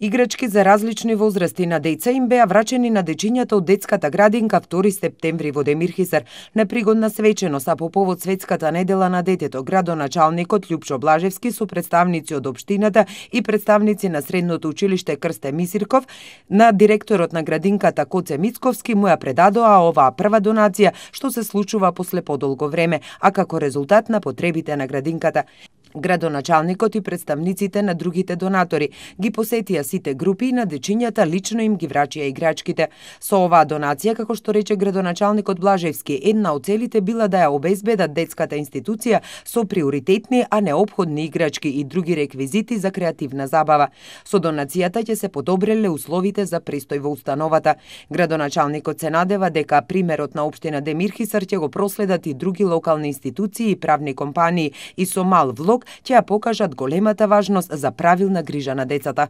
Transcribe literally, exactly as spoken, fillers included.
Играчки за различни возрасти на деца им беа врачени на дечињата од детската градинка втори септември во Демирхисар на пригодна свеченост, а по повод Светската недела на детето, градоначалникот Љупчо Блажевски со представници од општината и представници на средното училиште Крсте Мисирков на директорот на градинката Коце Мицковски му ја предадоа оваа прва донација што се случува после подолго време, а како резултат на потребите на градинката. Градоначалникот и представниците на другите донатори ги посетија сите групи и на дечињата лично им ги врачија играчките. Со оваа донација, како што рече градоначалникот Блажевски, една од целите била да ја обезбедат детската институција со приоритетни, а неопходни играчки и други реквизити за креативна забава. Со донацијата ќе се подобреле условите за престој во установата. Градоначалникот се надева дека примерот на општина Демирхисар ќе го проследат и други локални институции и правни компании и со мал влог ќе ја покажат големата важност за правилна грижа на децата.